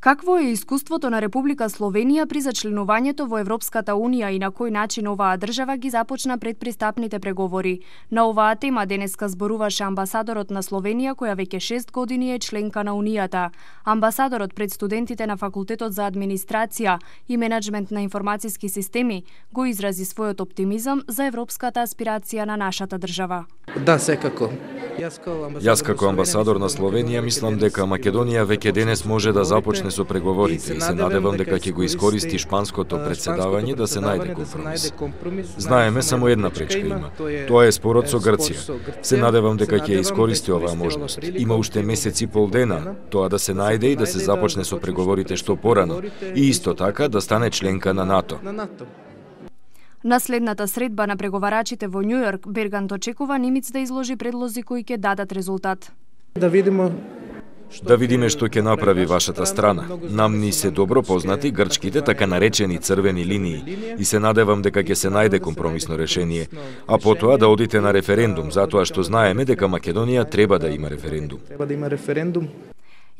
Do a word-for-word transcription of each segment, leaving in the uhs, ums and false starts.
Какво е искуството на Република Словенија при зачленувањето во Европската Унија и на кој начин оваа држава ги започна предпристапните преговори? На оваа тема денеска зборуваше амбасадорот на Словенија, која веќе шест години е членка на Унијата. Амбасадорот пред студентите на Факултетот за администрација и менеджмент на информациски системи го изрази својот оптимизам за европската аспирација на нашата држава. Да, секако. Јас како амбасадор на Словенија мислам дека Македонија веќе денес може да започне со преговорите и се надевам дека ќе го искористи шпанското претседавање да се најде компромис. Знаеме само една пречка има. Тоа е спорот со Грција. Се надевам дека ќе искористи оваа можност. Има уште месец и пол дена тоа да се најде и да се започне со преговорите што порано и исто така да стане членка на НАТО. На следната средба на преговарачите во Њујорк, Бергант очекува Нимиц да изложи предлози кои ќе дадат резултат. Да видиме Да видиме што ќе направи вашата страна. Нам ни се добро познати грчките така наречени црвени линии и се надевам дека ќе се најде компромисно решение, а потоа да одите на референдум, затоа што знаеме дека Македонија треба да има референдум. Треба да има референдум.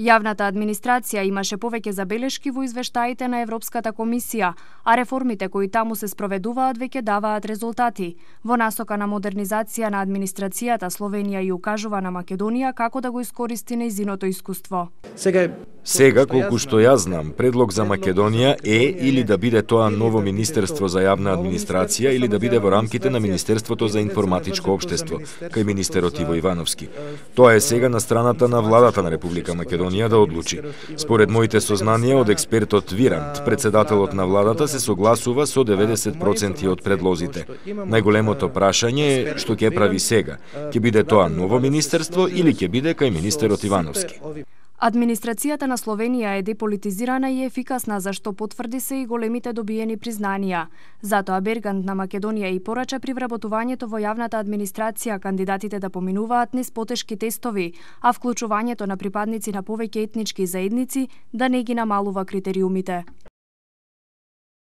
Јавната администрација имаше повеќе забелешки во извештаите на Европската комисија, а реформите кои таму се спроведуваат веќе даваат резултати. Во насока на модернизација на администрацијата, Словенија ја укажува на Македонија како да го искористи нејзиното искуство. Сега Сега, колку што јас знам, предлог за Македонија е или да биде тоа ново Министерство за јавна администрација или да биде во рамките на Министерството за информатичко општество, кај министерот Иво Ивановски. Тоа е сега на страната на владата на Република Македонија да одлучи. Според моите сознанија од експертот Вирант, председателот на владата се согласува со деветдесет проценти од предлозите. Најголемото прашање е што ќе прави сега. Ќе биде тоа ново министерство или ќе биде кај министерот Ивановски? Администрацијата на Словенија е деполитизирана и ефикасна, зашто потврди се и големите добиени признанија. Затоа Бергант на Македонија и порача при вработувањето во јавната администрација кандидатите да поминуваат низ потешки тестови, а вклучувањето на припадници на повеќе етнички заедници да не ги намалува критериумите.